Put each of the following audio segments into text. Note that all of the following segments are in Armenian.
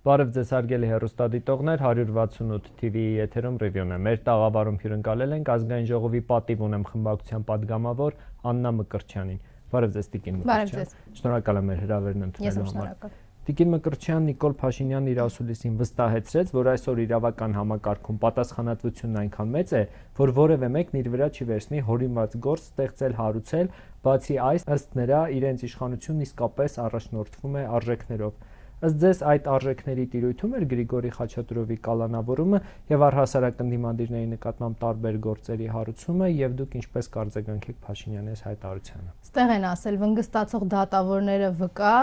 Բարև ձեզ հարգելի հեռուստադիտողներ, 168 TV-ի եթերում ռիվյուն է։ Մեր տաղավարում հյուրընկալել ենք Ազգային ժողովի պատիվ ունեմ խմբակցության падգամավոր Աննա Մկրտչյանին։ Բարև ձեզ Տիկին Մկրտչյան։ Շնորհակալ եմ մեր հրավերն ընդունելու համար։ Տիկին Մկրտչյան Նիկոլ Փաշինյանն իր ասուլիսին վստահեցրեց, որ այսօր իրավական համակարգում պատասխանատվությունն այնքան մեծ է, որ որևէ մեկն իր վրա չի վերցնի հորինված գործ ստեղծել, հարուցել, բացի այս, ըստ նրա, իրենց իշխանությունն իսկապես առաջնորդվում է արժեքներով։ Ըստ ձեզ այդ արժեքների տիրույթում էր Գրիգորի Խաչատուրովի կալանավորումը եւ առհասարակ ընդդիմադիրների նկատմամբ տարբեր գործերի հարուցումը եւ դուք ինչպես կարձագանքեք Փաշինյանի այս հայտարարությանը։ Ստեղ են ասել վնգստացող դատավորները վկա,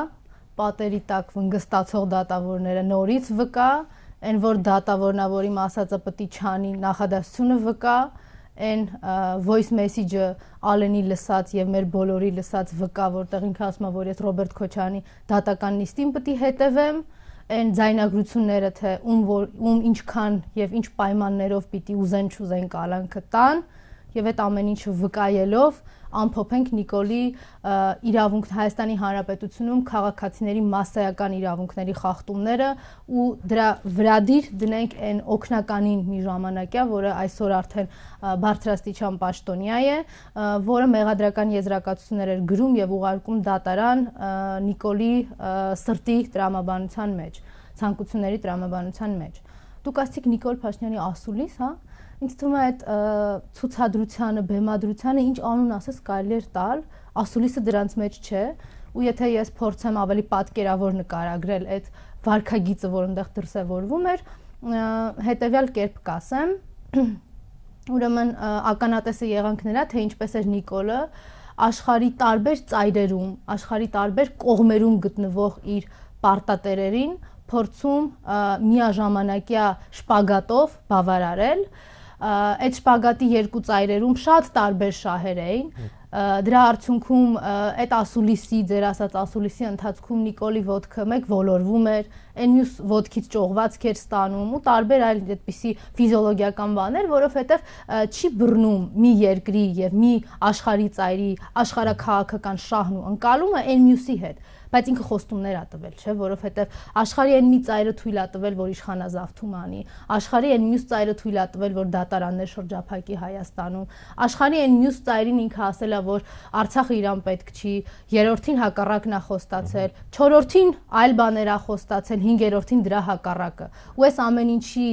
պատերի տակ վնգստացող դատավորները նորից վկա, այն որ դատավորնավորի ասածը պիտի չանի նախադասությունը վկա, այն voice message-ը Ալենի լսած եւ մեր բոլորի լսած վկա, որտեղ ինքը ասում է, որ ես Ռոբերտ Քոչարյանի դատական նիստին պիտի հետևեմ, այն ձայնագրությունները թե ում ինչքան եւ ինչ պայմաններով պիտի ուզեն չուզեն կալանքը տան եւ այդ ամեն ինչը վկայելով ամփոփենք Նիկոլի իրավունք Հայաստանի Հանրապետությունում քաղաքացիների մասսայական իրավունքների խախտումները ու դրա վրադիր դնենք այն օգնականին մի ժամանակյա, որը այսօր արդեն բարձրաստիճան պաշտոնյա է, որը մեղադրական եզրակացություններ էր գրում եւ ուղարկում դատարան Նիկոլի սրտի տրամաբանության մեջ, ցանկությունների տրամաբանության մեջ։ Դուք ասացիք Նիկոլ Փաշինյանի ասուլիս, հա? Ինձ թվում է այդ ցուցադրությանը, բեմադրությանը ինչ անուն ասես կարելի էր տալ, ասուլիսը դրանց մեջ չէ, ու եթե ես փորձեմ ավելի պատկերավոր նկարագրել այդ վարքագիծը, որ այնտեղ դրսևորվում էր, հետեւյալ կերպ կասեմ, ուրեմն ականատեսը եղանք նրա, թե ինչպես էր Նիկոլը աշխարհի տարբեր ծայրերում, աշխարհի տարբեր կողմերում գտնվող իր պարտատերերին փորձում միաժամանակյա շպագատով բավարարել, այդ շպագատի երկու ծայրերում շատ տարբեր շահեր էին, դրա արդյունքում այդ ասուլիսի, ձեր ասած ասուլիսի ընթացքում Նիկոլի ոտքը մեկ ոլորվում էր, այն մյուս ոտքից ճողվածք էր ստանում ու տարբեր այլ այդպիսի ֆիզիոլոգիական բաներ, որովհետև չի բռնում մի երկրի եւ մի աշխարհի ծայրի աշխարհաքաղաքական շահն ու ընկալումը այն մյուսի հետ, բայց ինքը խոստումներ ա տվել, չէ, որովհետև աշխարհի այն մի ծայրը թույլ ա տվել, որ իշխանազավթում անի, աշխարհի այն մյուս ծայրը թույլ ա տվել, որ դատարաններ շրջափակի Հայաստանում, աշխարհի այն մյուս ծայրին ինքը ասել ա, որ Արցախը իրան պետք չի, երրորդին հակառակն ա խոստացել, չորրորդին այլ բաներ ա խոստացել, հինգերորդին դրա հակառակը։ Ու այս ամեն ինչի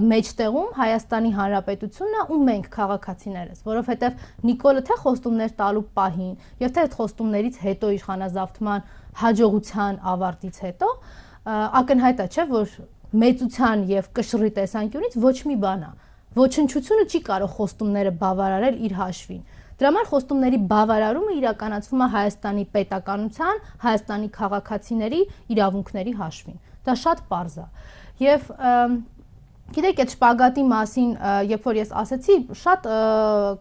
մեջտեղում Հայաստանի Հանրապետությունն ա ու մենք քաղաքացիներս, որովհետև Նիկոլը թե խոստումներ տալու պահին, եւ թե այդ խոստումներից հետո իշխանազավթման հաջողության ավարտից հետո ակնհայտ է, չէ, որ մեծության եւ կշռի տեսանկյունից ոչ մի բան է։ Ոչնչությունը չի կարող խոստումները բավարարել իր հաշվին։ Դրա համար խոստումների բավարարումը իրականացվում է Հայաստանի պետականության, Հայաստանի քաղաքացիների իրավունքների հաշվին։ Դա շատ պարզ է։ Եվ գիտեք, այդ շպագատի մասին, երբ որ ես ասացի, շատ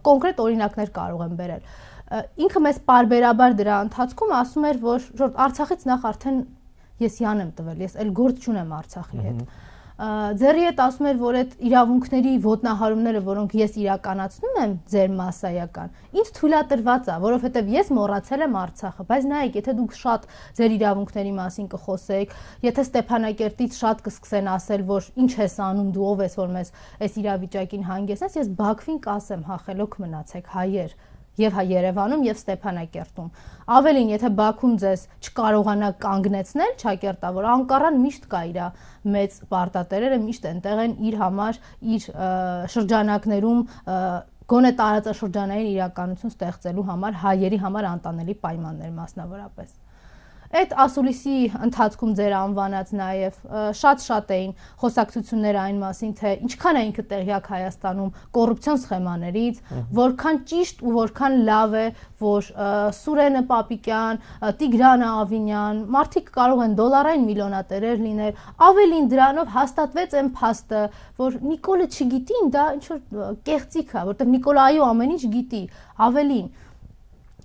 կոնկրետ օրինակներ կարող եմ բերել։ Ինքը մեզ պարբերաբար դրա ընթացքում ասում էր, որ Արցախից նախ արդեն ես յան եմ տվել, ես այլ գործ չունեմ Արցախի հետ։ Ձերի հետ ասում էր, որ այդ իրավունքների ոտնահարումները, որոնք ես իրականացնում եմ ձեր մասսայական, ինձ թույլատրված է, որովհետև ես մոռացել եմ Արցախը, բայց նայեք, եթե դուք շատ ձեր իրավունքների մասին կխոսեք, եթե Ստեփանակերտից շատ կսկսեն ասել, որ ինչ ես անում, դու ով ես, որ մեզ այս իրավիճակին հանգեցնես, ես Բաքվին կասեմ, հա խելոք մնացեք հայեր։ Եվ Երևանում եւ Ստեփանակերտում։ Ավելին, եթե Բաքուն ձեզ չկարողանա կանգնեցնել, ճակերտավոր Անկարան միշտ կա իր մեծ պարտատերերը միշտ այնտեղ են իր համար, իր շրջանակներում գոնե տարածաշրջանային իրականություն ստեղծելու համար հայերի համար անտանելի պայմաններ մասնավորապես։ Այդ ասուլիսի ընթացքում ձեր անվանած նաև շատ էին խոսակցությունները այն մասին, թե ինչքան է ինքը տեղյակ Հայաստանում կոռուպցիոն սխեմաներից, որքան ճիշտ ու որքան լավ է, որ Սուրենը Պապիկյան, Տիգրանը Ավինյան, մարդիկ կարող են դոլարային միլիոնատերեր լինել, ավելին դրանով հաստատվեց այն փաստը, որ Նիկոլը չգիտի, դա ինչ որ կեղծիք է, որտեղ Նիկոլը այո ամեն ինչ գիտի, ավելին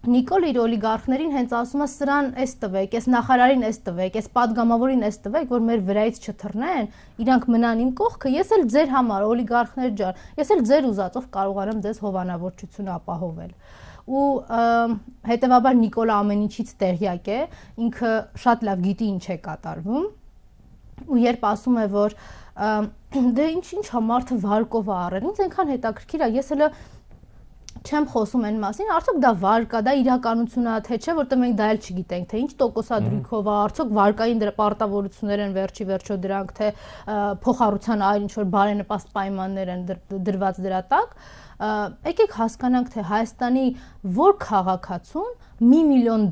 Նիկոլ իր օլիգարխներին հենց ասում է սրան էս տվեք, էս նախարարին էս տվեք, էս падգամավորին էս տվեք, որ մեր վրայից չթռնեն, իրանք մնան իմ կողքը, ես էլ ձեր համար օլիգարխներ ջան, ես էլ ձեր ուզածով կարողանամ ձեզ հովանավորչությունը ապահովել։ Ու հետևաբար Նիկոլը ամեն ինչից տեղյակ է, ինքը շատ լավ գիտի ինչ է կատարվում։ ու երբ ասում է, որ դե ինչ համարթը վարկով է առել, ինձ այնքան հետաքրքիր է, ես հələ չեմ խոսում այն մասին, արդյոք դա վարկա, դա իրականություն է, թե չէ, որտեղ մենք դա էլ չգիտենք, թե ինչ տոկոսադրույքով է, արդյոք վարկային դրա պարտավորություններ են վերջի վերջո դրանք, թե փոխառության այլ ինչ որ բարենպաստ պայմաններ են դրված դրա տակ։ Եկեք հասկանանք, թե Հայաստանի որ քաղաքացուն $1 միլիոն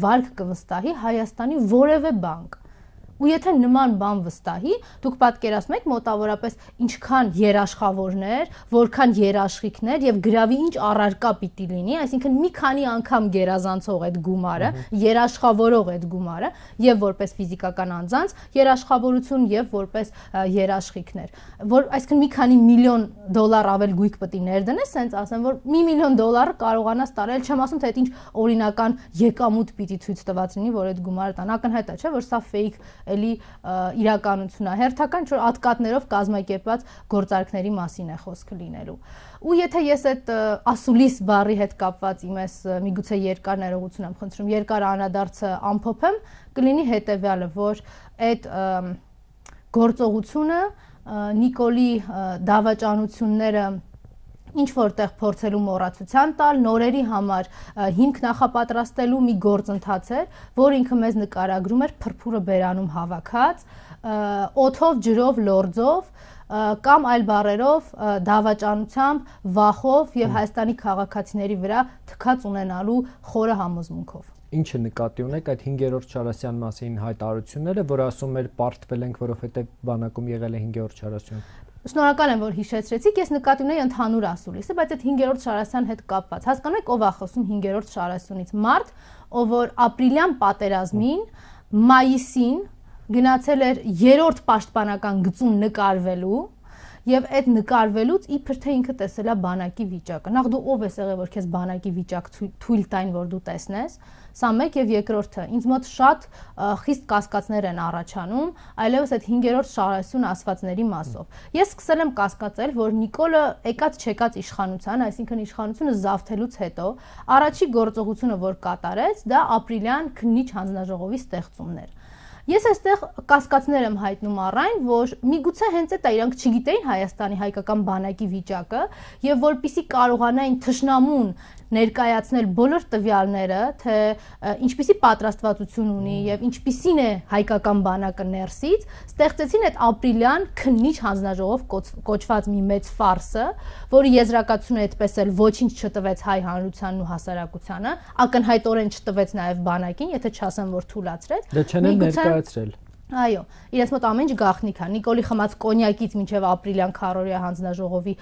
վարկ կվստահի Հայաստանի որևէ բանկ։ Ու եթե նման բան վստահի, դուք պատկերացնում եք մոտավորապես ինչքան երաշխավորներ, որքան երաշխիքներ եւ գրավի ինչ առարկա պիտի լինի, այսինքն մի քանի անգամ գերազանցող այդ գումարը, երաշխավորող այդ գումարը եւ որպես ֆիզիկական անձանց երաշխավորություն եւ որպես երաշխիքներ, որ այսինքն մի քանի միլիոն $, ավել գույք պետք է ներդնես, ասենց ասեմ, որ $1 միլիոն կարողանաս տարել, չեմ ասում թե այդ ինչ օրինական եկամուտ պիտի ցույց տված լինի, որ այդ գումարը տան, ակնհայտ է, չէ, որ սա fake էլի իրականություն է, հերթական ինչ-որ ատկատներով կազմակերպված գործարքների մասին է խոսքը լինելու։ Ու եթե ես այդ ասուլիս բառի հետ կապված իմես միգուցե երկար ներողություն եմ խնդրում, երկար անդրադարձը ամփոփեմ, կլինի հետևյալը, որ այդ գործողությունը Նիկոլի դավաճանությունները ինչ որտեղ փորձելու մոռացության տալ, նորերի համար հիմք նախապատրաստելու մի գործընթաց էր, որ ինքը մեզ նկարագրում էր փրփուրը բերանում հավաքած, օդով, ջրով, լորձով կամ այլ բառերով դավաճանությամբ, վախով եւ Հայաստանի քաղաքացիների վրա թքած ունենալու խորը համոզմունքով։ Ինչը նկատի ունեք այդ 5-րդ Չարասյան մասին հայտարարությունները, որ ասում էր պարտվել ենք, որովհետեւ բանակում եղել է 5-րդ Չարասյան։ Շնորհակալ եմ, որ հիշեցրեցիք, ես նկատի ունեի ընդհանուր ասուլիսը, բայց այդ 5-րդ Շարասյան հետ կապված։ Հասկանում եք, ով է խոսում 5-րդ Շարասյունից։ Մարդ, ով որ ապրիլյան պատերազմին, մայիսին գնացել էր 3-րդ պաշտպանական գծում նկարվելու եւ այդ նկարվելուց իբր թե ինքը տեսել է բանակի վիճակը։ Նախ դու ով ես եղել, որ քեզ բանակի վիճակ թույլ տային, որ դու տեսնես։ Սա մեկ եւ երկրորդը, ինձ մոտ շատ խիստ կասկածներ են առաջանում, այլևս այդ 5-րդ Շարասյուն ասվածների մասով։ Ես սկսել եմ կասկածել, որ Նիկոլը եկած-չեկած իշխանության, այսինքն իշխանությունը զավթելուց հետո, առաջի գործողությունը, որ կատարեց, դա ապրիլյան քննիչ հանձնաժողովի ստեղծումն էր։ Ես այստեղ կասկածներ եմ հայտնում առայն, որ միգուցե հենց այդ իրանք չգիտեին Հայաստանի հայկական բանակի վիճակը եւ որպիսի կարողանային թշնամուն ներկայացնել բոլոր տվյալները, թե ինչպիսի պատրաստվածություն ունի եւ ինչպիսին է հայկական բանակը ներսից, ստեղծեցին այդ ապրիլյան քննիչ հանձնաժողով կոչված մի մեծ ֆարսը, որի եզրակացությունը այդպես էլ ոչինչ չտվեց հայ հանրությանն ու հասարակությանը, ակնհայտորեն չտվեց նաեւ բանակին, եթե չասեմ, որ թույլատրեց։ Դա չեն ներկայացրել։ Այո, իրենց մոտ ամեն ինչ գաղտնիք է։ Նիկոլի խմած կոնյակից մինչև ապրիլյան քարորիա հանձնաժողովի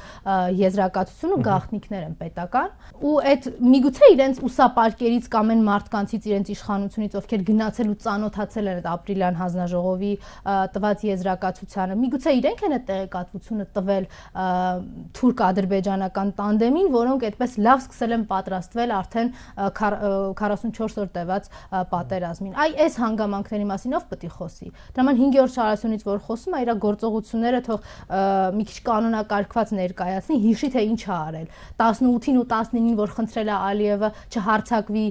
եզրակացությունը գաղտնիքներ են պետական, ու այդ միգուցե իրենց ուսապարկերից կամ այն մարդկանցից իրենց իշխանությունից, ովքեր գնացել ու ծանոթացել են այդ ապրիլյան հանձնաժողովի տված եզրակացությանը, միգուցե իրենք են այդ տեղեկատվությունը տվել թուրք-ադրբեջանական տանդեմին, որոնք այդպես լավ սկսել են պատրաստվել արդեն 44 օր տևած պատերազմին։ Այ այս հանգամանքների մասին ով պետք է խոսի։ Դրաման 5-րդ Շարասյունից որ խոսում է, իր գործողությունները թող մի քիչ կանոնակարգված ներկայացնի, հիշի թե ինչ է արել։ 18-ին ու 19-ին որ խնդրել է Ալիևը չհարցակվի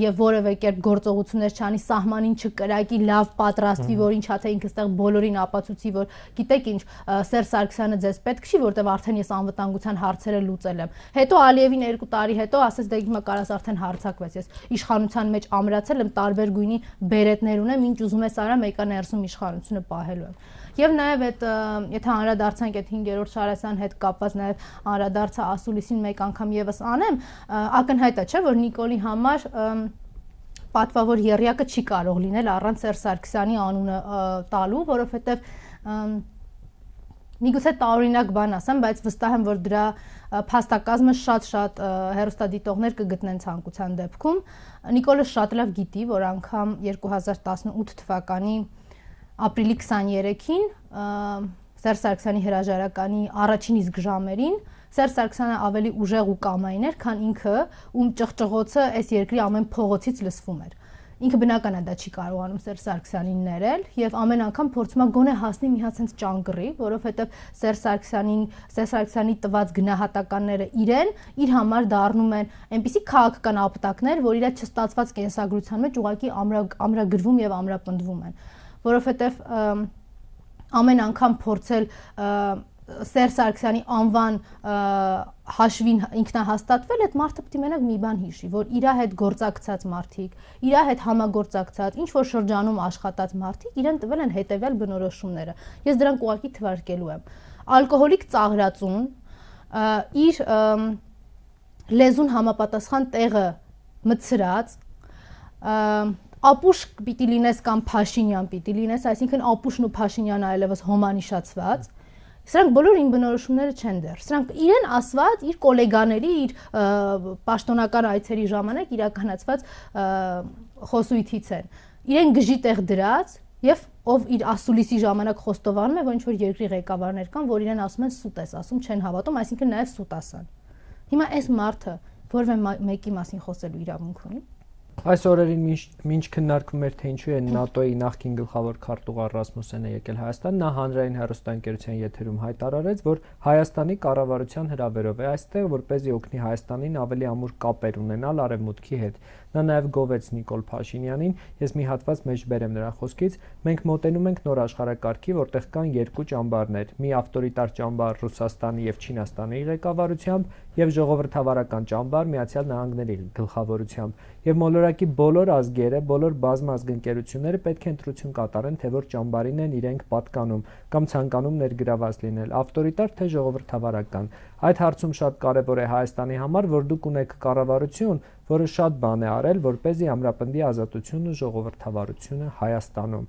եւ որևէ կերպ գործողություններ չանի, սահմանին չկրակի, լավ պատրաստվի, որ ինչա թե ինքը ստեղ բոլորին ապացուցի, որ գիտեք ինչ, Սերժ Սարգսյանը ձեզ պետք չի, որտեվ արդեն ես անվտանգության հարցերը լուծել եմ։ Հետո Ալիևին 2 տարի հետո ասես դե հիմա կարաս արդեն հարցակվես, ես իշխանության մեջ ամրացել եմ, տարբեր գույնի բերետներ ունեմ, ինչ ուզում ես արա, մեկը ներսում իշխանությունը պահելու եմ։ Եվ նաև այդ եթե անդրադարձանք այդ 5-րդ Շարասյան հետ կապված նաև անդրադարձը ասուլիսին մեկ անգամ եւս անեմ, ակնհայտ է, չէ, որ Նիկոլի համար պատվավոր եռյակը չի կարող լինել առանց Սերժ Սարգսյանի անունը տալու, որովհետեւ միգուցե տարօրինակ բան ասեմ, բայց վստահ եմ, որ դրա փաստակազմը շատ հեռուստադիտողներ կգտնեն ցանկության դեպքում։ Նիկոլը շատ լավ գիտի, որ անգամ 2018 թվականի ապրիլի 23-ին Սերժ Սարգսյանի հրաժարականի առաջին իսկ ժամերին Սերժ Սարգսյանը ավելի ուժեղ ու կամային էր, քան ինքը, ում ճղճղոցը այս երկրի ամեն փողոցից լսվում էր։ Ինքը բնական է դա չի կարողանում Սերժ Սարգսյանին ներել եւ ամեն անգամ փորձում է գոնե հասնի մի հատ sense ճանկռի, որովհետեւ Սերժ Սարգսյանի տված գնահատականները իրեն իր համար դառնում են այնպիսի քաղաքական ապտակներ, որ իր չստացված կենսագրության մեջ ուղղակի ամրագրվում եւ ամրապնդվում են, որովհետեւ ամեն անգամ փորձել Սերժ Սարգսյանի անվան հաշվին ինքնահաստատվել, այդ մարդը պետք է մենակ մի բան հիշի, որ իր հետ գործակցած մարդիկ, իր հետ համագործակցած, ինչ որ շրջանում աշխատած մարդիկ իրեն տվել են հետևյալ բնորոշումները։ Ես դրանք ուղղակի թվարկելու եմ։ Ալկոհոլիկ ծաղրածուն իր լեզուն համապատասխան տեղը մտցրած, ապուշ պիտի լինես կամ Փաշինյան պիտի լինես, այսինքն ապուշն ու Փաշինյանը այլևս հոմանիշացված, սրանք բոլորը իմ բնորոշումները չեն դեռ։ Սրանք իրեն ասված, իր գոլեգաների, իր պաշտոնական այցերի ժամանակ իրականացված խոսույթից են։ Իրեն գժի տեղ դրած եւ ով իր ասուլիսի ժամանակ խոստովանում է, որ ինչ որ երկրի ղեկավարներ կան, որ իրեն ասում են սուտ ես ասում, չեն հավատում, այսինքն նաեւ սուտ ասան։ Հիմա այս մարդը որևէ մեկի մասին խոսելու իրավունք ունի։ Այս օրերին մինչ քննարկվում էր թե ինչու է ՆԱՏՕ-ի նախկին գլխավոր քարտուղար Ռասմուսենը եկել Հայաստան, նա հանրային հեռուստաընկերության եթերում հայտարարեց, որ Հայաստանի կառավարության հրավերով է այստեղ, որպեսզի օգնի Հայաստանին ավելի ամուր կապեր ունենալ Արևմուտքի հետ։ Նա նաև գովեց Նիկոլ Փաշինյանին, ես մի հատված մեջ բերեմ նրա խոսքից, մենք մոտենում ենք նոր աշխարհակարգի, որտեղ կան երկու ճամբարներ՝ մի ավտորիտար ճամբար Ռուսաստանի եւ Չինաստանի ղեկավարությամբ եւ ժողովրդավարական ճամբար Միացյալ Նահանգների գլխավորությամբ։ Եվ մոլորակի բոլոր ազգերը, բոլոր բազմազգ պետք է ընտրություն կատարեն, թե որ ճամբարին են իրենք պատկանում կամ ցանկանում ներգրաված լինել, ավտորիտար թե ժողովրդավարական։ Այդ հարցում շատ կարևոր է Հայաստանի համար, որ դուք ունեք կառավարություն, որը շատ բան է արել, որպեսզի ամրապնդի ազատությունը, ժողովրդավարությունը Հայաստանում։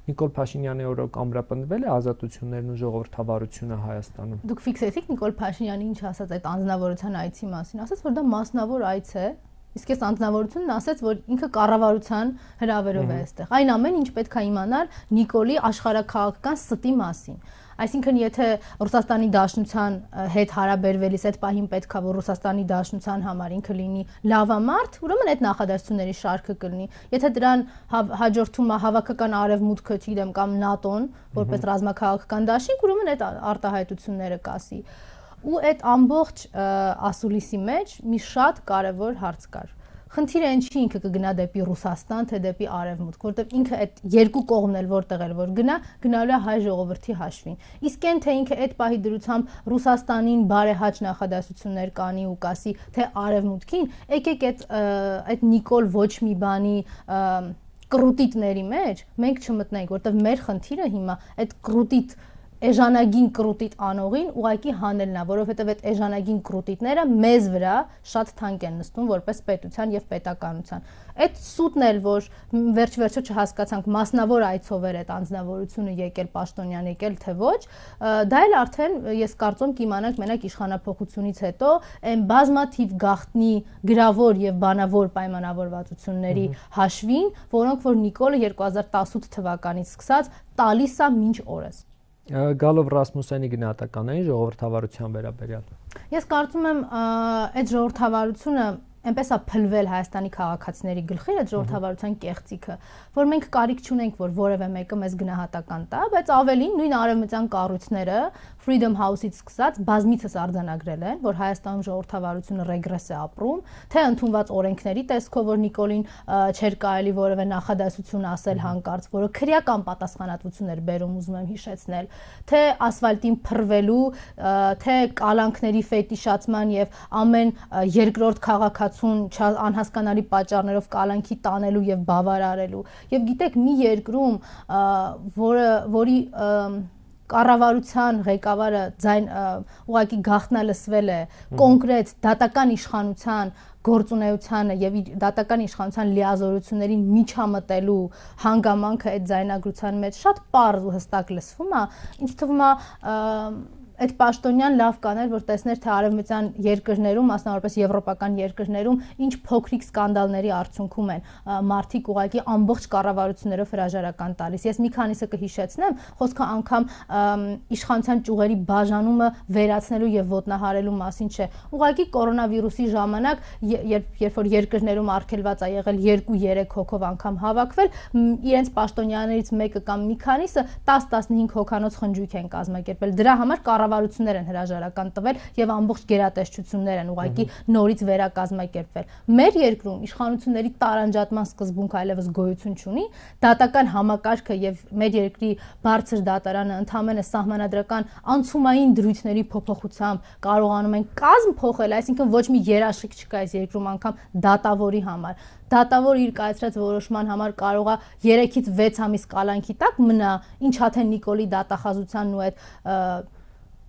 Նիկոլ Փաշինյանի օրոք ամրապնդվել է ազատություններն ու ժողովրդավարությունը Հայաստանում։ Դուք ֆիքսեցիք Նիկոլ Փաշինյանի ինչ ասաց այդ անձնավորության այցի մասին, ասաց, որ դա մասնավոր այց է, իսկ այս անձնավորությունն ասաց, որ ինքը կառավարության հրավերով է այստեղ։ Այն ամեն ինչ պետք է իմանալ Նիկոլի աշխարհաքաղաքական ստի մասին։ Այսինքն, եթե Ռուսաստանի Դաշնության հետ հարաբերվելիս այդ պահին պետք է որ Ռուսաստանի Դաշնության համար ինքը լինի լավամարդ, ուրեմն այդ նախադասությունների շարքը կլինի։ Եթե դրան հաջորդում է հավաքական արևմուտքը, չգիտեմ, կամ ՆԱՏՕ-ն, որպես ռազմաքաղաքական դաշինք, ուրեմն այդ արտահայտությունները կասի։ Ու այդ ամբողջ ասուլիսի մեջ մի շատ կարևոր հարց կար։ Խնդիրը այն չի ինքը կգնա դեպի Ռուսաստան, թե դեպի Արևմուտք, որտեղ ինքը այդ երկու կողմն էլ որտեղ էլ որ գնալու է հայ ժողովրդի հաշվին։ Իսկ այն թե ինքը այդ պահի դրությամբ Ռուսաստանին բարեհաճ նախադասություններ կանի ու կասի, թե Արևմուտքին, եկեք այդ Նիկոլ ոչ մի բանի կրուտիտների մեջ մենք չմտնենք, որտեղ մեր խնդիրը հիմա այդ կրուտիտ էժանագին կրուտիտ անողին ուղակի հանելն է, որովհետև այդ էժանագին կրուտիտները մեզ վրա շատ թանկ են նստում որպես պետության եւ պետականության։ Այդ սուտն էլ որ վերջ-վերջը չհասկացանք մասնավոր այցով էր այդ անձնավորությունը եկել Պաշտոնյան եկել թե ոչ, դա էլ արդեն ես կարծում կիմանանք մենակ իշխանափոխությունից հետո այն բազմաթիվ գաղտնի գրավոր եւ բանավոր պայմանավորվածությունների հաշվին, որոնք որ Նիկոլը 2018 թվականից սկսած տալիս է մինչ օրս։ Գալով Ռասմուսենի գնահատականային ժողովրդավարության վերաբերյալ։ Ես կարծում եմ այդ ժողովրդավարությունը այնպես է փլվել Հայաստանի քաղաքացիների գլխի այդ ժողովրդավարության կեղծիքը, որ մենք կարիք չունենք, որ որևէ մեկը մեզ գնահատական տա, բայց ավելին նույն արևմտյան կառույցները Freedom House-ից սկսած բազմիցս արձանագրել են, որ Հայաստանում ժողովրդավարությունը ռեգրես է ապրում, թե ընդունված օրենքների տեսքով, որ Նիկոլին չէր կարելի որևէ նախադասություն ասել հանկարծ, որը քրեական պատասխանատվություն էր բերում, ուզում եմ հիշեցնել, թե ասֆալտին փռվելու, թե կալանքների ֆետիշացման եւ ամեն երկրորդ քաղաքացուն անհասկանալի պատճառներով կալանքի տանելու եւ բավարարելու։ Եվ գիտեք, մի երկրում, որի կառավարության ղեկավարը ուղղակի գաղտնալսվել է կոնկրետ դատական իշխանության գործունեությանը եւ դատական իշխանության լիազորություններին միջամտելու հանգամանքը այդ ձայնագրության մեջ շատ պարզ ու հստակ լսվում է, ինձ թվում է այդ պաշտոնյան լավ կաներ, որ տեսներ թե արևմտյան երկրներում, մասնավորապես եվրոպական երկրներում, ինչ փոքրիկ սկանդալների արդյունքում են մարդիկ ուղղակի ամբողջ կառավարություններով հրաժարական տալիս։ Ես մի քանիսը կհիշեցնեմ, խոսքը անգամ իշխանության ճյուղերի բաժանումը վերացնելու եւ ոտնահարելու մասին չէ։ Ուղղակի կորոնավիրուսի ժամանակ, երբ որ երկրներում արգելված է եղել 2-3 հոգով անգամ հավաքվել, իրենց պաշտոնյաներից մեկը կամ մի քանիսը 10-15 հոգանոց խնջույք են կազմակերպել։ Դրա համար կառավարություններ են հրաժարական տվել եւ ամբողջ գերատեսչություններ են ուղղակի նորից վերակազմակերպվել։ Մեր երկրում իշխանությունների տարանջատման սկզբունք այլևս գոյություն չունի, դատական համակարգը եւ մեր երկրի բարձր դատարանը ընդհանրապես սահմանադրական անցումային դրույթների փոփոխությամբ կարողանում են կազմ փոխել, այսինքն ոչ մի երաշխիք չկա այս երկրում անգամ դատավորի համար։ Դատավոր իր կայացրած որոշման համար կարող է 3-ից 6 ամիս կալանքի տակ մնա, ինչ թե Նիկոլի դատախազությանն ու այդ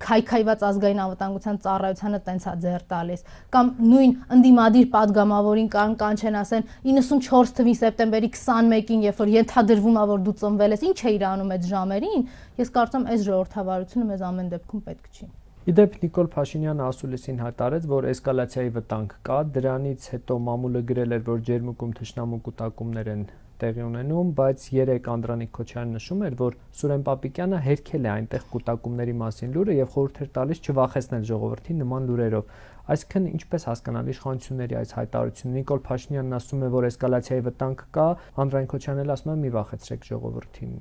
քայքայված ազգային անվտանգության ծառայությանը տենց է ձեռ տալիս, կամ նույն ընդդիմադիր падգամավորին կանչեն ասեն 94 թվականի սեպտեմբերի 21-ին, երբ որ ենթադրվում է, որ դու ծնվել ես, ինչ է իր անում այդ ժամերին, ես կարծում այս ժողովրդավարությունը մեզ ամեն դեպքում պետք չի։ Իդեպ Նիկոլ Փաշինյանը ասուլիսին հայտարարեց, որ էսկալացիայի վտանգ կա, դրանից հետո մամուլը գրել էր, որ ջերմուկում թշնամու կուտակումներ են տեղի ունենում, բայց 3 Անդրանիկ Քոչարյանը նշում էր, որ Սուրեն Պապիկյանը հերքել է այնտեղ կուտակումների մասին լուրը եւ խորհուրդ էր տալիս չվախեցնել ժողովրդին նման լուրերով։ Այսինքն ինչպես հասկանալ իշխանությունների այս հայտարարությունը։ Նիկոլ Փաշինյանն ասում է, որ էսկալացիայի վտանգ կա, Անդրանիկ Քոչարյանն ասում է՝ մի վախեցրեք ժողովրդին։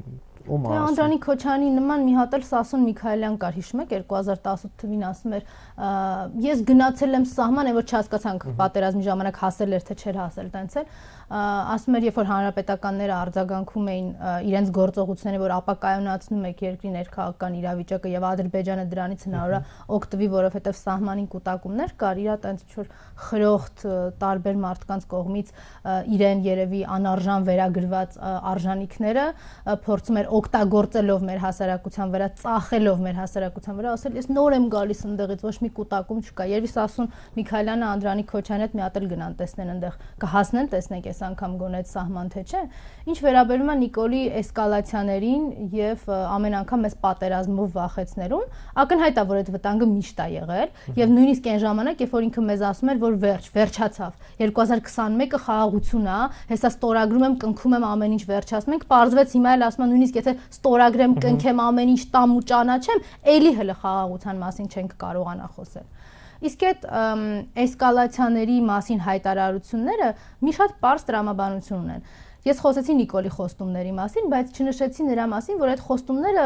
Անդրանիկ Քոչարյանի նման մի հատ էլ Սասուն Միքայելյան կար, հիշում եք 2018 թվականին ասում էր ես գնացել եմ սահման, որ չհասկացանք պատերազմի ժամանակ հասել էր թե չէր հասել, տենց էլ ասում էր, երբ որ հանրապետականները արձագանքում էին իրենց գործողությունները, որ ապակայունացնում եք երկրի ներքաղաքական իրավիճակը եւ Ադրբեջանը դրանից հնարավոր է օգտվի, որովհետեւ սահմանին կուտակումներ կար, իրա տենց ինչ որ խրոխտ տարբեր մարդկանց կողմից իրեն երևի անարժան վերագրված արժանինքները փորձում էր օգտագործելով մեր հասարակության վրա, ծախելով մեր հասարակության վրա, ասել ես նոր եմ գալիս ընդեղից, ոչ մի կուտակում չկա։ Երևի Սասուն Միքայելյանը, Անդրանիկ Քոչարյանը հետ մի հատ էլ գնան տեսնեն այնտեղ, կհասնեն տեսնենք այս անգամ գոնե այդ սահման թե չէ։ Ինչ վերաբերում է Նիկոլի էսկալացիաներին եւ ամեն անգամ մեզ պատերազմով վախեցնելուն, ակնհայտ է, որ այդ վտանգը միշտ է եղել եւ նույնիսկ այն ժամանակ, երբ որ ինքը մեզ ասում էր, որ վերջացավ 2021-ը խաղաղություն է, հեսա ստորագրում եմ, կնքում եմ ամեն ինչ վերջացնում ենք, պարզվեց հիմա էլ ասում են նույնիսկ եթե ստորագրեմ, կնքեմ ամեն ինչ տամ ու ճանաչեմ, էլի հələ խաղաղության մասին չենք կարողանա խոսել։ Իսկ այդ էսկալացիաների մասին հայտարարությունները մի շատ պարզ տրամաբանություն ունեն։ Ես խոսեցի Նիկոլի խոստումների մասին, բայց չնշեցի նրա մասին, որ այդ խոստումները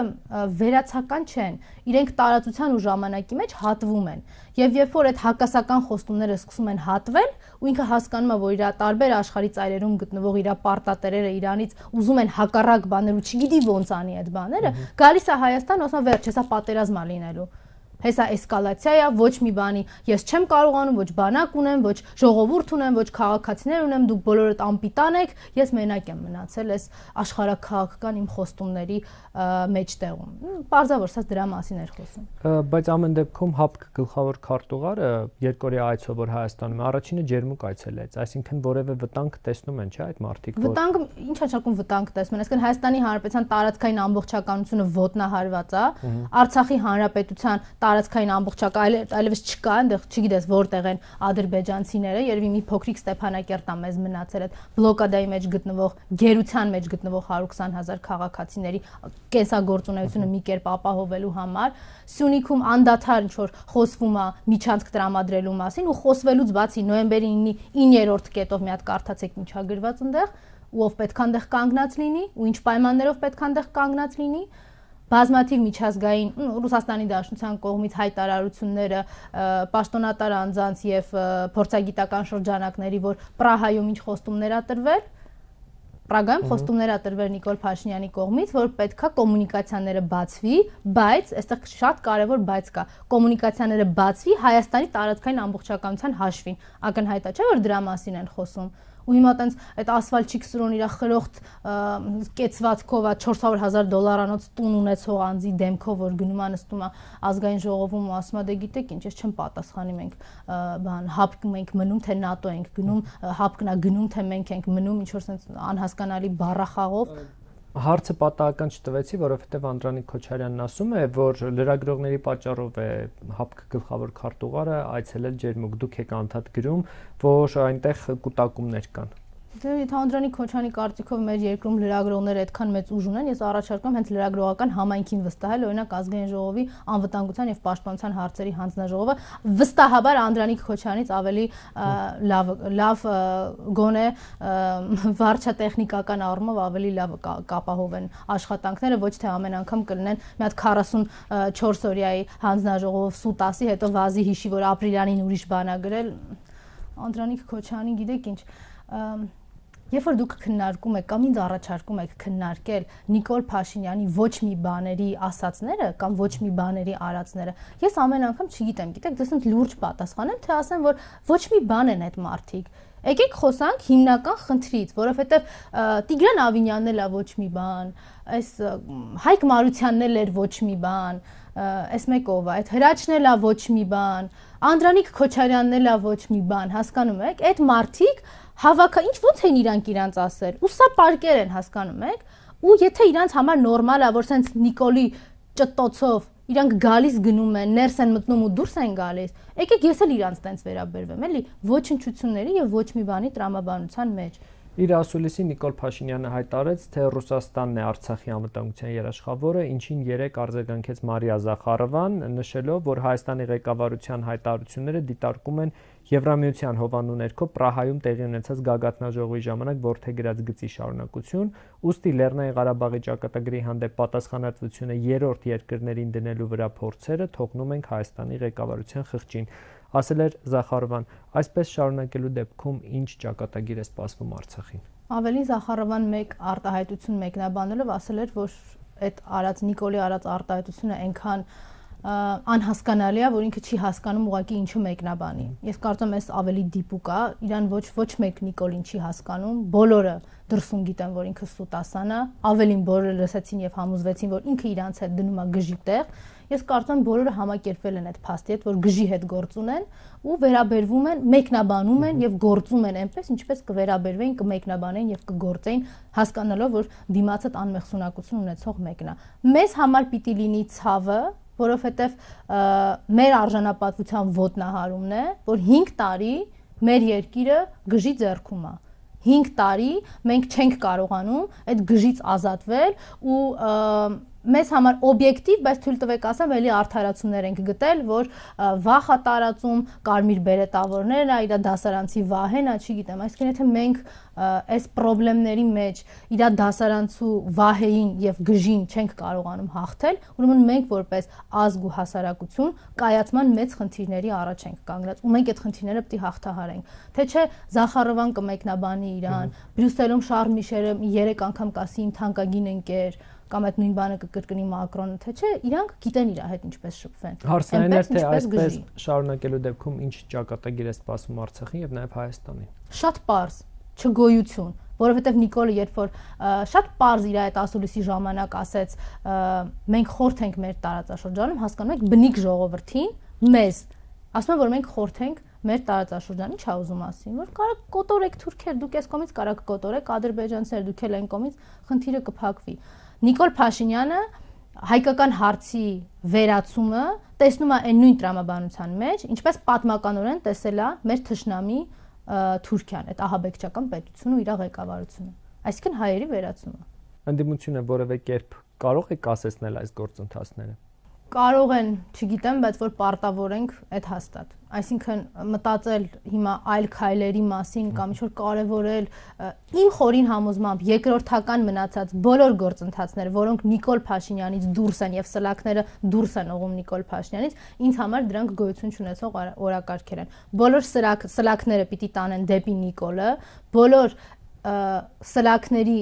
վերացական չեն, իրենք տարածության ու ժամանակի մեջ հատվում են։ Եվ երբ որ այդ հակասական խոստումները սկսում են հատվել, ու ինքը հասկանում է, որ իր տարբեր աշխարհի ծայրերում գտնվող իր պարտատերերը իրանից ուզում են հակառակ բաներ ու չգիտի ոնց անի այդ բաները, գալիս է Հայաստան, ասում վերջ, հեսա պատերազմ է լինելու։ Հեսա էսկալացիա է, ոչ մի բանի, ես չեմ կարողանում, ոչ բանակ ունեմ, ոչ ժողովուրդ ունեմ, ոչ քաղաքացիներ ունեմ, դուք բոլորդ անպիտան եք, ես մենակ եմ մնացել այս աշխարհաքաղաքական իմ խոստումների մեջտեղում։ Պարզավոր սա դրա մասին էր խոսում։ Բայց ամեն դեպքում ՀԱՊԿ գլխավոր քարտուղարը երկօրյա այցով որ Հայաստանում առաջինը ջերմուկ այցելեց, այսինքն որևէ վտանգ տեսնում են, չէ՞ այդ մարդիկ։ Վտանգ, ինչ հաշակում վտանգ տեսնում են, այսինքն Հայաստանի Հանրապետության տարածքային ամբողջականությունը ոտնահարված է, Արցախի Հանրապետության տարածքային ամբողջական այլևս չկա, այնտեղ չգիտես որտեղ են ադրբեջանցիները, երևի մի փոքրիկ Ստեփանակերտ է մեզ մնացել այդ բլոկադայի մեջ գտնվող, գերության մեջ գտնվող 120,000 քաղաքացիների կենսագործունեությունը մի կերպ ապահովելու համար, Սյունիքում անդադար ինչ որ խոսվում է միջանցք տրամադրելու մասին ու խոսվելուց բացի նոյեմբերի 9-րդ կետով մի հատ կարդացեք ինչա գրված այնտեղ, ու ով պետք է այնտեղ կանգնած լինի, ու ինչ պայմաններով պետք է այնտեղ կանգնած լինի, բազմաթիվ միջազգային Ռուսաստանի Դաշնության կողմից հայտարարությունները պաշտոնատար անձանց եւ փորձագիտական շրջանակների, որ Պրահայում ինչ խոստումներ ա տրվել, Պրագայում խոստումներ ա տրվել Նիկոլ Փաշինյանի կողմից, որ պետքա կոմունիկացիաները բացվի, բայց այստեղ շատ կարևոր բայց կա, կոմունիկացիաները բացվի Հայաստանի տարածքային ամբողջականության հաշվին, ակնհայտ է, չէ՞ որ դրա մասին են խոսում։ Ու հիմա տենց այդ ասֆալտչիկ սրոն իր խրոխտ կեցվածքով է $400,000 տուն ունեցող անձի դեմքով որ գնում է նստում է ազգային ժողովում ու ասում է դե գիտեք ինչ ես չեմ պատասխանի մենք բան ՀԱՊԿ ենք մնում թե ՆԱՏՕ ենք գնում ՀԱՊԿ-ն է գնում թե մենք ենք մնում ինչ որ sense անհասկանալի բառախաղով Հարցը պատահական չտվեցի, որովհետև Անդրանիկ Քոչարյանն ասում է, որ լրագրողների պատճառով է ՀԱՊԿ գլխավոր քարտուղարը այցելել ջերմուկ, դուք եք անդադ գրում, որ այնտեղ կուտակումներ կան։ Դե եթե Անդրանիկ Քոչարյանի կարծիքով մեր երկրում լրագրողները այդքան մեծ ուժ ունեն, ես առաջարկում հենց լրագրողական համայնքին վստահել, օրինակ Ազգային ժողովի անվտանգության եւ պաշտպանության հարցերի հանձնաժողովը վստահաբար Անդրանիկ Քոչարյանից ավելի լավ գոնե վարչատեխնիկական առումով ավելի լավ կապահովեն աշխատանքները, ոչ թե ամեն անգամ կլինեն մի հատ 44 օրյայի հանձնաժողովով սուտ ասի, հետո վազի հիշի, որ ապրիլյանին ուրիշ բան ա գրել։ Անդրանիկ Քոչարյանի գիտեք ինչ, երբ որ դուք քննարկում եք կամ ինձ առաջարկում եք քննարկել Նիկոլ Փաշինյանի ոչ մի բաների ասածները կամ ոչ մի բաների արածները, ես ամեն անգամ չգիտեմ, գիտեք, դες ինձ լուրջ պատասխանեմ, թե ասեմ, որ ոչ մի բան են այդ մարդիկ։ Եկեք խոսանք հիմնական խնդրից, որովհետև Տիգրան Ավինյանն էլ է ոչ մի բան, այս Հայկ Մարությանն էլ էր ոչ մի բան, այս մեկով է, այդ Հրաչն էլ է ոչ մի բան, Անդրանիկ Քոչարյանն էլ է ոչ մի բան, հասկանում եք, այդ մարդիկ հավաքը ինչ ոնց են իրանք ասել, ու սա պարկեր են, հասկանում եք, ու եթե իրանք համար նորմալ է, որ սենց Նիկոլի ճտոցով իրանք գալիս գնում են, ներս են մտնում ու դուրս են գալիս, եկեք ես էլ իրանք տենց վերաբերվեմ, էլի, ոչնչությունների եւ ոչ մի բանի տրամաբանության մեջ։ Իր ասուլիսի Նիկոլ Փաշինյանը հայտարարեց, թե Ռուսաստանն է Արցախի անվտանգության երաշխավորը, ինչին երեք արձագանքեց Մարիա Զախարովան, նշելով, որ Հայաստանի ղեկավարության հայտարարությունները դիտարկում են Եվրամիության հովանու ներքո Պրահայում տեղի ունեցած գագաթնաժողովի ժամանակ որդեգրած գծի շարունակություն, ուստի Լեռնային Ղարաբաղի ճակատագրի հանդեպ պատասխանատվությունը երրորդ երկրներին դնելու վրա փորձերը թողնում ենք Հայաստանի ղեկավարության խղճին, ասել էր Զախարովան, այսպես շարունակելու դեպքում ինչ ճակատագիր է սպասվում Արցախին։ Ավելի Զախարովան մեկ արտահայտություն մեկնաբանելով ասել էր, որ այդ Նիկոլի արած արտահայտությունը այնքան անհասկանալի է, որ ինքը չի հասկանում ուղղակի ինչու մեկնաբանի։ Ես կարծում եմ, այս ավելի դիպուկ է, իրան ոչ մեկ Նիկոլին չի հասկանում, բոլորը դրսում գիտեն, որ ինքը սուտասան է, ավելին բոլորը լսեցին եւ համոզվեցին, որ ինքը իրանց հետ դնում է գժի տեղ։ Ես կարծում եմ, բոլորը համակերպվել են այդ փաստի հետ, որ գժի հետ գործ ունեն ու վերաբերվում են, մեկնաբանում են եւ գործում են այնպես, ինչպես կվերաբերվեին, կմեկնաբանեն եւ կգործեին, հասկանալով, որ դիմացը անմեղսունակություն ունեցող մեկն է։ Մեզ համար պիտի լինի ցավը, որովհետև մեր արժանապատվության ոտնահարումն է, որ 5 տարի մեր երկիրը գժի ձեռքում է։ 5 տարի մենք չենք կարողանում այդ գժից ազատվել ու մեզ համար օբյեկտիվ, բայց թույլ տվեք ասեմ, էլի արդարացումներ ենք գտել, որ վախ է տարածում, կարմիր բերետավորներն է, իր դասարանցի վահեն է, չգիտեմ, այսինքն եթե մենք այս խնդիրների մեջ իր դասարանցու վահեին եւ գժին չենք կարողանում հաղթել, ուրեմն մենք որպես ազգ ու հասարակություն կայացման մեծ խնդիրների առաջ ենք կանգնած ու մենք այդ խնդիրները պետք է հաղթահարենք։ Թե չէ Զախարովան կմեկնաբանի իրան, Բրյուսելում Շարլ Միշելը 3 անգամ կասի իմ թանկագին ընկեր կամ այդ նույն բանը կկրկնի Մակրոնը, թե չէ, իրանք գիտեն իր հետ ինչպես շփվեն։ Հարցն է, թե այսպես շարունակելու դեպքում ինչ ճակատագիր է սպասվում Արցախին եւ նաեւ Հայաստանին։ Շատ պարզ, չգոյություն, որովհետեւ Նիկոլը երբ որ շատ պարզ իր այդ ասուլիսի ժամանակ ասեց, մենք խորթ ենք մեր տարածաշրջանում, հասկանում եք, բնիկ ժողովրդին, մեզ, ասում են, որ մենք խորթ ենք մեր տարածաշրջանը, ի՞նչ է ուզում ասի, որ կարա կոտորեք թուրքեր, դուք այս կողմից կարա կոտորեք ադրբեջանցիներ, դուք էլ այն կողմից խնդիրը կփակվի։ Նիկոլ Փաշինյանը հայկական հարցի վերացումը տեսնում է այն նույն տրամաբանության մեջ, ինչպես պատմականորեն տեսել է մեր թշնամի Թուրքիան, այդ ահաբեկչական պետությունը ու իր ղեկավարությունը, այսինքն հայերի վերացումը։ Ընդդիմությունը որևէ կերպ կարող է կասեցնել այս գործընթացները։ Կարող են, չգիտեմ, բայց որ պարտավորենք այդ հաստատ։ Այսինքն մտածել հիմա այլ քայլերի մասին կամ ինչ-որ կարևորել իմ խորին համոզմամբ երկրորդական մնացած բոլոր գործընթացները, որոնք Նիկոլ Փաշինյանից դուրս են եւ սլաքները դուրս են ուղում Նիկոլ Փաշինյանից, ինձ համար դրանք գոյություն չունեցող օրակարգեր են։ Բոլոր սլաքները պիտի տանեն դեպի Նիկոլը, բոլոր սլաքների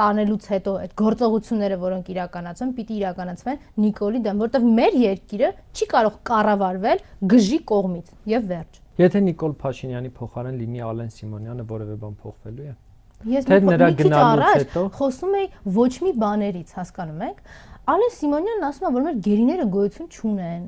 տանելուց հետո այդ գործողությունները, որոնք իրականացվեն, պիտի իրականացվեն Նիկոլի դեմ, որովհետև մեր երկիրը չի կարող կառավարվել գժի կողմից եւ վերջ։ Եթե Նիկոլ Փաշինյանի փոխարեն լինի Ալեն Սիմոնյանը, որևէ բան փոխվելու է։ Ես նրա գնալուց հետո խոսում եի ոչ մի բաներից, հասկանում եք։ Ալեն Սիմոնյանն ասում է, որ մեր գերիները գոյություն չունեն։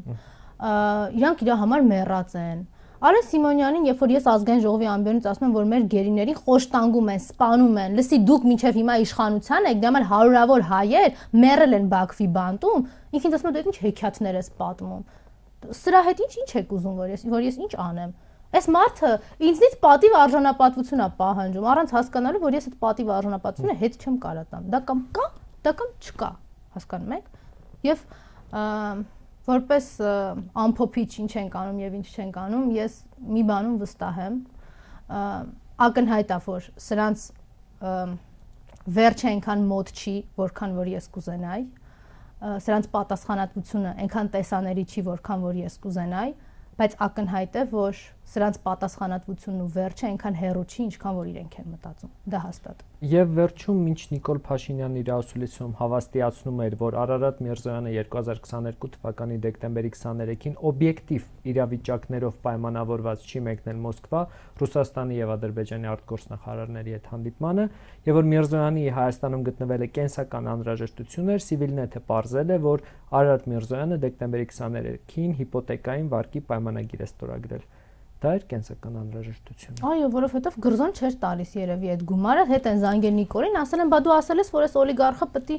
Իրանք իր համար մեռած են։ Ալեն Սիմոնյանին, երբ որ ես ազգային ժողովի ամբիոնից ասում եմ, որ մեր գերիներին խոշտանգում են, սպանում են, լսի դուք մինչև հիմա իշխանության եք, դե մալ հարյուրավոր հայեր մեռել են Բաքվի բանտում, ինքն ինձ ասում է դու ինչ հեքիաթներ ես պատմում։ Սրա հետ ինչ եք ուզում, որ ես ինչ անեմ։ Այս մարդը ինձնից պատիվ արժանապատվություն է պահանջում, առանց հասկանալու, որ ես այդ պատիվ արժանապատվությունը հետ չեմ կարող տամ։ Դա կամ կա, դա կամ չկա, հասկանում եք։ Եվ որպես ամփոփիչ ինչ ենք անում եւ ինչ չենք անում, ես մի բանում վստահ եմ, ակնհայտ է, որ սրանց վերջը այնքան մոտ չի, որքան որ ես կուզենայի, սրանց պատասխանատվությունը այնքան տեսաների չի, որքան որ ես կուզենայի, բայց ակնհայտ է, որ սրանց պատասխանատվությունն ու վերջը այնքան հեռու չի, ինչքան որ իրենք են մտածում։ Դա հաստատ։ Եվ վերջում ինչ Նիկոլ Փաշինյանն իր ասուլիսում հավաստիացնում էր, որ Արարատ Միրզոյանը 2022 թվականի դեկտեմբերի 23-ին օբյեկտիվ իրավիճակներով պայմանավորված չի մեկնել Մոսկվա Ռուսաստանի եւ Ադրբեջանի արտգործնախարարների հետ հանդիպմանը, եւ որ Միրզոյանի Հայաստանում գտնվել է կենսական անհրաժեշտություններ, Սիվիլնեթը պարզել է, որ Արարատ Միրզոյանը դեկտեմբերի 23-ին հիպոթեկային վարկի պայմանագիր է ստորագրել։ Դա էր կենսական անհրաժեշտություն։ Այո, որովհետև գրզոն չէր տալիս երևի այդ գումարը, հետ են զանգել Նիկոլին, ասել են, բա դու ասել ես, որ այս օլիգարխը պետք է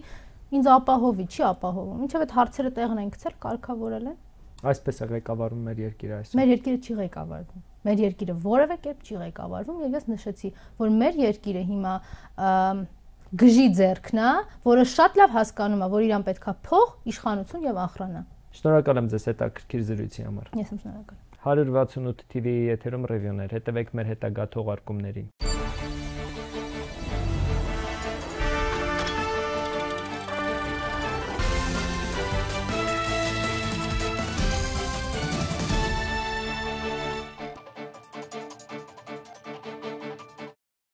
ինձ ապահովի, չի ապահովում։ Ինչև այդ հարցերը տեղն են գցել, կարգավորել են։ Այսպես է ղեկավարում մեր երկիրը այսօր։ Մեր երկիրը չի ղեկավարվում։ Մեր երկիրը որևէ կերպ չի ղեկավարվում, եւ ես նշեցի, որ մեր երկիրը հիմա գժի ձեռքն է, որը շատ լավ հասկանում է, որ իրան պետքա փող, իշխանություն եւ ախրանա։ Շնորհակալ եմ ձեզ հետաքրքիր զրույցի համար։ Ես եմ շնորհակալ։ 168 TV-ի եթերում ռևյուներ, հետևեք մեր հետագա թողարկումներին։